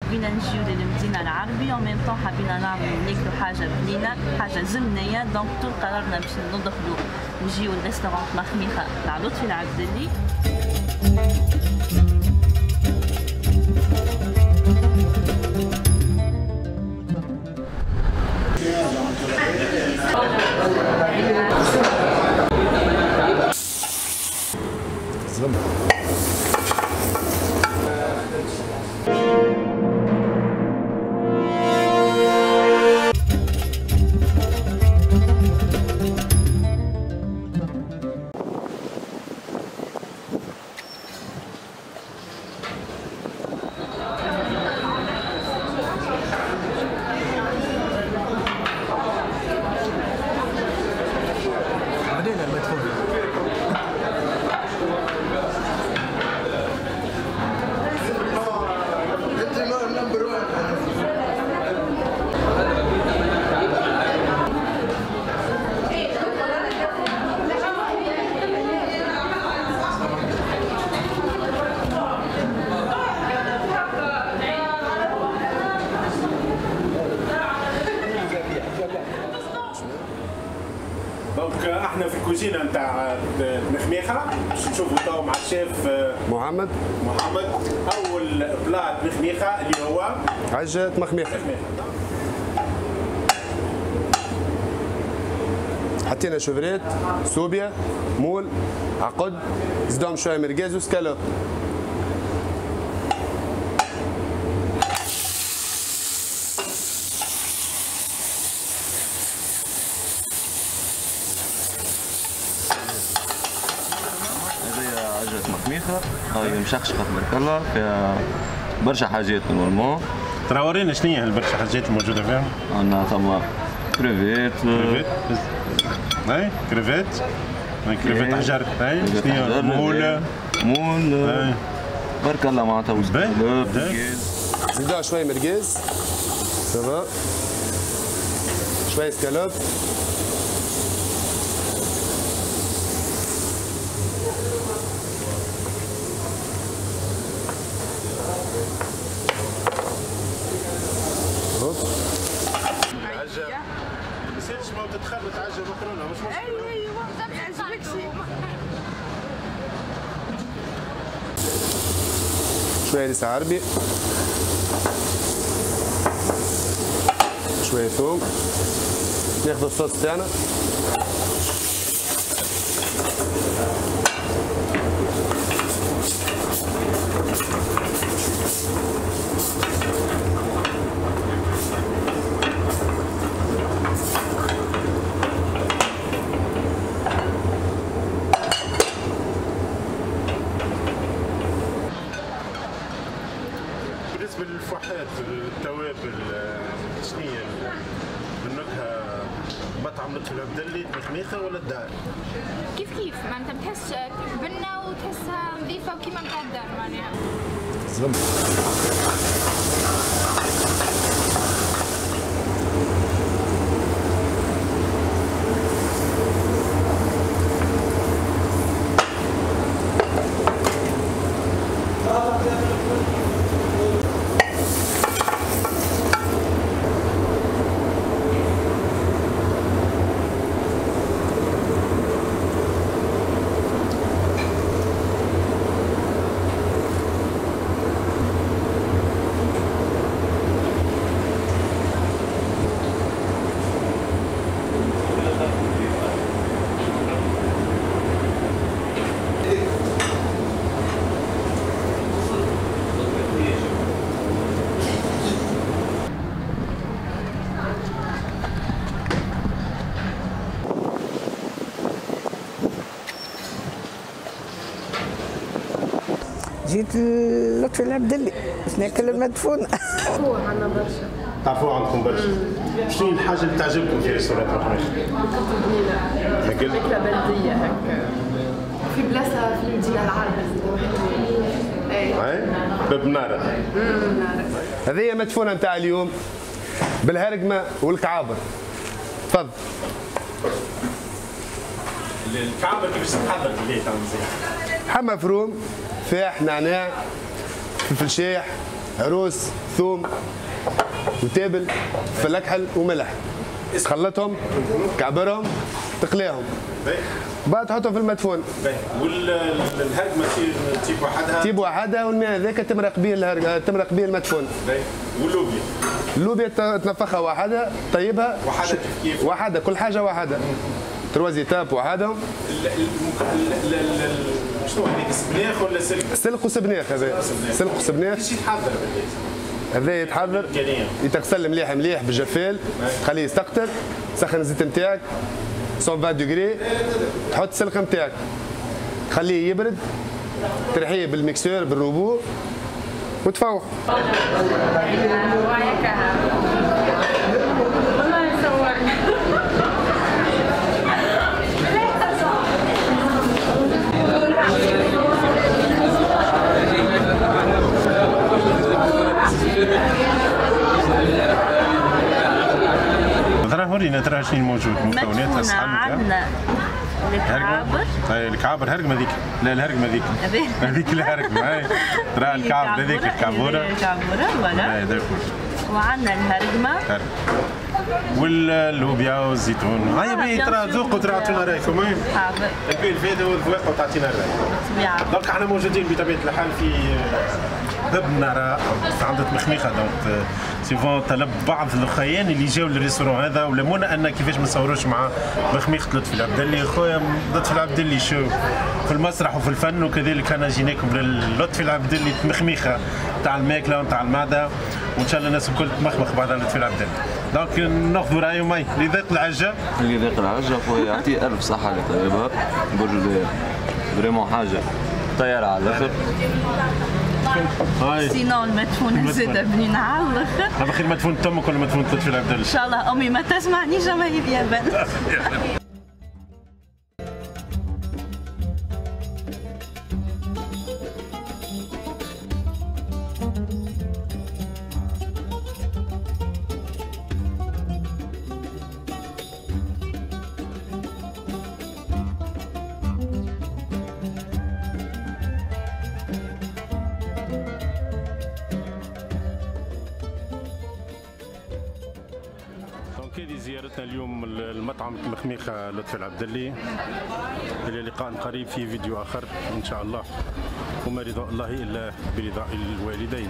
حبينا نجيو للمدينة العربية و même temps حبينا نعملو ناكلو حاجة بنينه، حاجة زمنية، donc طول قررنا باش ندخلو نجيو لل restaurant مخميخه تاع لطفي العبدلي. donc احنا في الكوزينة نتاع مخميخه باش نشوفوا تو مع الشيف محمد. اول plat مخميخه اللي هو عجة مخميخه. حطينا chevrettes، سوبيا، moules، عقد، زدهم شوية مرقاز وسكالوب. عجة مخميخة هاي مشخشخة تبارك الله، فيها برشا حاجات normalement. ترى ورينا شنو هي البرشا حاجات الموجودة فيها؟ عندنا ثم كريفيت، اي كريفيت، كريفيت حجر، اي شنو هي؟ moule، moule بارك الله معناتها وسكالوب. زيدوها شوية مرقاز، ça va، شوية سكالوب. ما تتخلط عجة مكرونه مش مشكلة. ايوه ايوه ما يعجبكش. شوية لسه عربي، شوية ثوم، ناخذ الصوص تاعنا. بالنسبة للفوحات، التوابل، شنو هي النكهة؟ مطعم لطفي العبدلي مخميخه ولا الدار؟ كيف كيف، معناتها بتحس بنه وتحسها نظيفة وكيما نتاع الدار معناها. جيت لطفي العبدلي باش ناكل المدفون. عندنا برشا. تعرفوه عندكم برشا. شنو الحاجة اللي تعجبكم في restaurant مخميخة؟ ماكلة بنينة. ماكلة بلدية هكا. في بلاصة في المدينة العربية اي. اي باب نارة. هذه هي مدفونة نتاع اليوم بالهرقمة والكعابر. تفضل. الكعابر كيفاش تتحضر بالليل؟ حمى مفروم، فاح، نعناع، فلفل شايح، هروس، ثوم وتابل، فلكحل وملح. تخلطهم، كعبرهم، تقليهم. بعد تحطهم في المدفون. والهرقمه تيب وحدها؟ تيب وحدها، والماء هذاك تمرق به الهرقمه، تمرق به المدفون. واللوبيا؟ اللوبيا تنفخها وحدها، طيبها وحدها كيف؟ وحدها، كل حاجة وحدها. trois étapes وحدهم. شنو هذيك، سبناخ ولا سلق؟ سلق وسبناخ هذا. سلق وسبناخ. كيفاش يتحضر بالله؟ هذا يتحضر يتغسل مليح مليح بالجفال، تخليه يستقطر، تسخن الزيت نتاعك 120 degrés، تحط السلق نتاعك، تخليه يبرد، ترحيه بال mixeur بال robot وتفوح. ترى ورينا ترى شنو موجود مكونات الصحن. عندنا الكعابر. اي الكعابر، هرقمه هذيك. لا الهرقمه هذيك، هذيك الهرقمه. اي ترى الكعب هذيك الكعبوره. الكعبوره voilà. اي d'accord. وعندنا الهرقمه واللوبيا والزيتون. هيا باهي ترى ذوقوا ترى اعطونا رايكم. حاضر. البي الفايدة والذواق وتعطينا الراي. بالطبيعة. donc احنا موجودين بطبيعة الحال في باب النارة عند مخميخه. donc suivant طلب بعض الاخيان اللي جاوا لل restaurant هذا ولمونا ان كيفاش ما نصوروش مع مخميخه لطفي العبدلي. خويا لطفي العبدلي شو في المسرح وفي الفن، وكذلك انا جيناكم للطفي العبدلي مخميخه تاع الماكلة وتاع المعدة، وان شاء الله الناس الكل تمخمخ بعد لطفي العبدلي. donc ناخذوا رايه ماي اللي ذاق العجه. اللي ذاق العجه خويا يعطيه الف صحة اللي طيبها برجولية، vraiment حاجة طيارة على الاخر. sinon المدفونه زاده بنينه على الاخر. هذا خير مدفون امك ولا مدفون لطفي العبدلي؟ ان شاء الله امي ما تسمعنيش ما هي بيابان. هذه زيارتنا اليوم المطعم مخميخة لطفي العبدلي. إلى لقاء قريب في فيديو آخر إن شاء الله، وما رضاء الله إلا برضاء الوالدين.